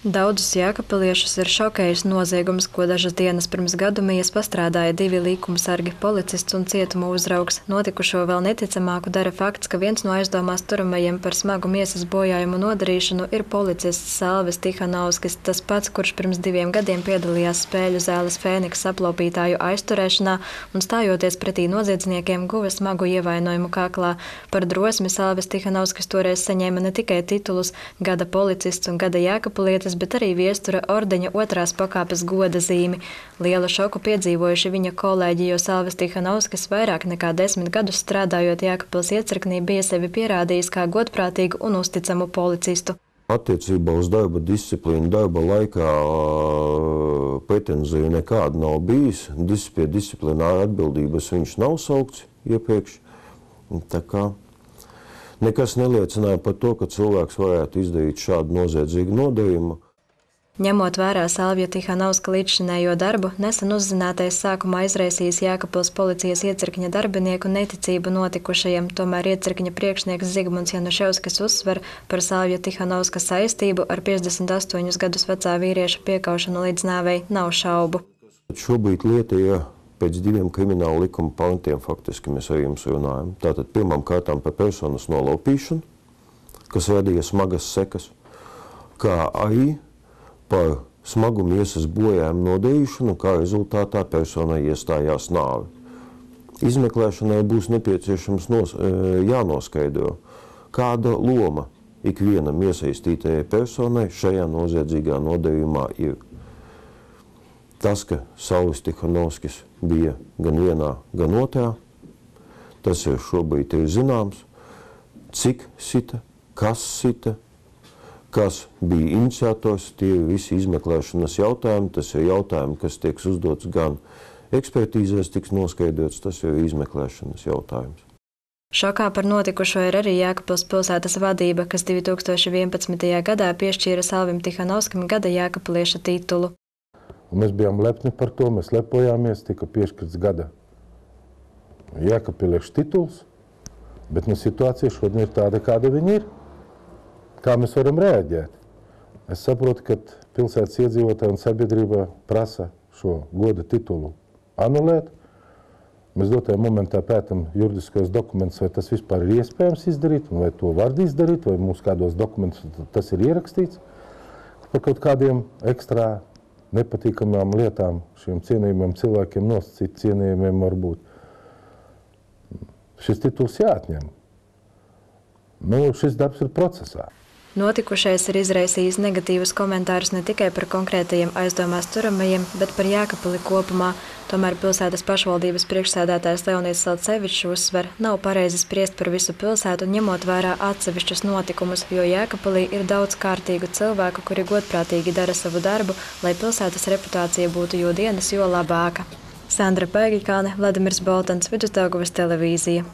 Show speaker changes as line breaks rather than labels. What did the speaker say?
Daudzus jēkabpiliešus ir šokējis noziegums, ko dažas dienas pirms gadumijas pastrādāja 2 likumsargi, policists un cietuma uzraugs. Notikušo vēl neticamāku dara fakts, ka viens no aizdomās turamajiem par smagu miesas bojājumu nodarīšanu ir policists Salvis Tihanovskis, tas pats, kurš pirms 2 gadiem piedalījās spēļu zāles Fēniks aplaupītāju aizturēšanā un stājoties pretī noziedzniekiem guva smagu ievainojumu kaklā. Par drosmi Salvis Tihanovskis toreiz saņēma ne tikai titulus gada policists un gada jēkabpilietis, bet arī Viestura ordeņa 2. pakāpes goda zīmi. Lielu šoku piedzīvojuši viņa kolēģi, jo Salvis Tihanovskis vairāk nekā 10 gadus strādājot Jēkabpils iecirknī bija sevi pierādījis kā godprātīgu un uzticamu policistu.
Attiecībā uz darba disciplīnu darba laikā pretenziju nekāda nav bijis. Pie disciplināra atbildības viņš nav saukts iepriekš. Tā kā nekas neliecināja par to, ka cilvēks varētu izdarīt šādu noziedzīgu nodarījumu.
Ņemot vērā Salvija Tihanovska līdzšinējo darbu, nesen uzzinātais sākumā izraisījis Jēkabpils policijas iecirkņa darbinieku neticību notikušajiem, tomēr iecirkņa priekšnieks Zigmunds Januševskis uzsver par Salvija Tihanovska saistību ar 58 gadus vecā vīrieša piekaušanu līdz nāvei nav šaubu.
Šobrīd lieta ir pēc 2 krimināla likuma pantiem, faktiski mēs ar jums runājam. Tātad pirmām kārtām par personas nolaupīšanu, kas radīja smagas sekas, kā arī par smagu miesas bojājumu nodarīšanu, kā rezultātā personai iestājās nāve. Izmeklēšanai būs nepieciešams jānoskaidro, kāda loma ikvienam iesaistītajai personai šajā noziedzīgā nodarījumā ir. Tas, ka Salvis Tihanovskis bija gan vienā, gan otrā, tas ir šobrīd ir zināms, cik sita, kas bija iniciators, tie ir visi izmeklēšanas jautājumi, tas ir jautājumi, kas tiek uzdots gan ekspertīzēs, tiks noskaidrots, tas ir izmeklēšanas jautājums.
Šokā par notikušo ir arī Jēkabpils pilsētas vadība, kas 2011. gadā piešķīra Salvim Tihanovskim gada jēkabpilieša titulu.
Un mēs bijām lepni par to, mēs lepojāmies, tika piešķirts gada jēkabpilieša tituls, bet situācija šodien ir tāda, kāda viņa ir. Kā mēs varam reaģēt? Es saprotu, ka pilsētas iedzīvotāji un sabiedrība prasa šo goda titulu anulēt. Mēs dotajā momentā pētam juridiskos dokumentus, vai tas vispār ir iespējams izdarīt, un vai to var izdarīt, vai mums kādos dokumentus tas ir ierakstīts. Par kaut kādiem ekstrā nepatīkamām lietām šiem cienījumiem cilvēkiem nosacīt cienījumiem varbūt. Šis tituls jāatņem. Šis darbs ir procesā.
Notikušais ir izraisījis negatīvus komentārus ne tikai par konkrētajiem aizdomās turamajiem, bet par Jēkabpili kopumā. Tomēr pilsētas pašvaldības priekšsēdētājs Leonīds Salcevičs uzsver, nav pareizi spriest par visu pilsētu, ņemot vērā atsevišķus notikumus, jo Jēkabpilī ir daudz kārtīgu cilvēku, kuri godprātīgi dara savu darbu, lai pilsētas reputācija būtu jo dienas, jo labāka. Sandra Paigikāne, Vladimirs Boltans, Vidusdaugavas televīzija.